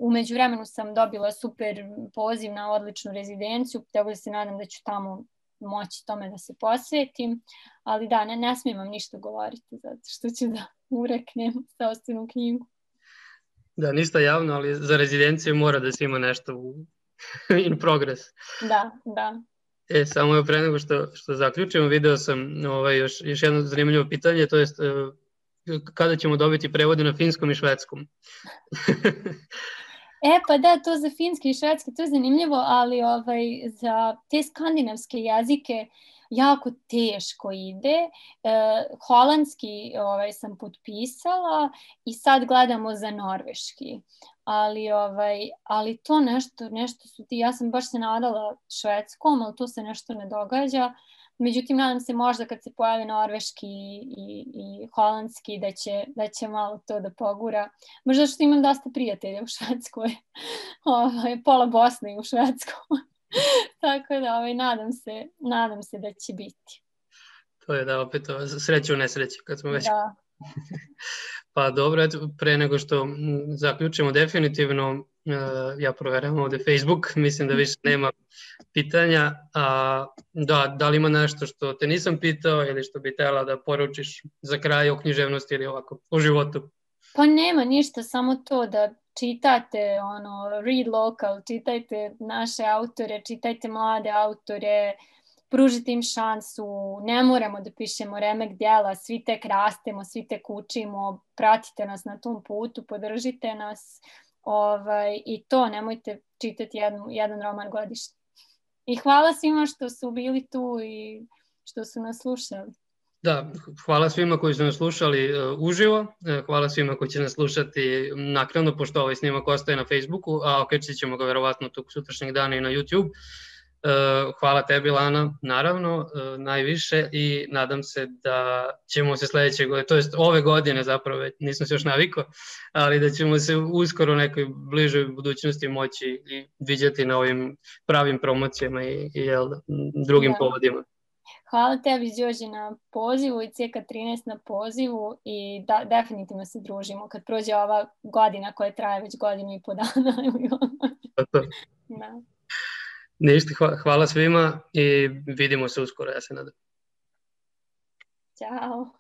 u međuvremenu sam dobila super poziv na odličnu rezidenciju, tako da se nadam da ću tamo moći tome da se posvetim, ali da, ne smijem vam ništa govoriti zato što ću da ureknem sopstvenu knjigu. Da, ništa javno, ali za rezidenciju mora da se ima nešto in progress. Da. Samo je pre nego što zaključimo, video sam još jedno zanimljivo pitanje, to jest kada ćemo dobiti prevode na finskom i švedskom? Pa da, to za finski i švedski, to je zanimljivo, ali za te skandinavske jezike jako teško ide. Holandski sam potpisala i sad gledamo za norveški. Ali to nešto su ti, ja sam baš se nadala švedskom, ali to se nešto ne događa. Međutim, nadam se možda kad se pojave norveški i holandski da će malo to da pogura. Možda što imam dosta prijatelja u Švedskoj. Pola Bosne u Švedskoj. Tako da nadam se da će biti. To je da opet sreće u nesreći kad smo već... Da. Pa dobro, eto, pre nego što zaključimo definitivno, ja proveravam ovde Facebook, mislim da više nema pitanja. Da li ima nešto što te nisam pitao ili što bi htjela da poručiš za kraj o književnosti ili ovako, o životu? Pa nema ništa, samo to da čitate, read local, čitajte naše autore, čitajte mlade autore, pružite im šansu, ne moramo da pišemo remek djela, svi tek rastemo, svi tek učimo, pratite nas na tom putu, podržite nas i to, nemojte čitati jedan roman godišnje. I hvala svima što su bili tu i što su nas slušali. Da, hvala svima koji su nas slušali uživo, hvala svima koji će nas slušati naknadno, pošto ovaj snimak ostaje na Facebooku, a okačit ćemo ga verovatno tog sutrašnjeg dana i na YouTube. Hvala tebi, Lana, naravno, najviše, i nadam se da ćemo se sledeće godine, to jest ove godine zapravo, nisam se još navikao, ali da ćemo se uskoro u nekoj bližoj budućnosti moći i viđati na ovim pravim promocijama i drugim povodima. Hvala tebi, Đorđe, na pozivu i CK13 na pozivu i definitivno se družimo kad prođe ova godina koja traje već 1,5 godina. Da. Ništa, hvala svima i vidimo se uskoro, ja se nadam. Ćao.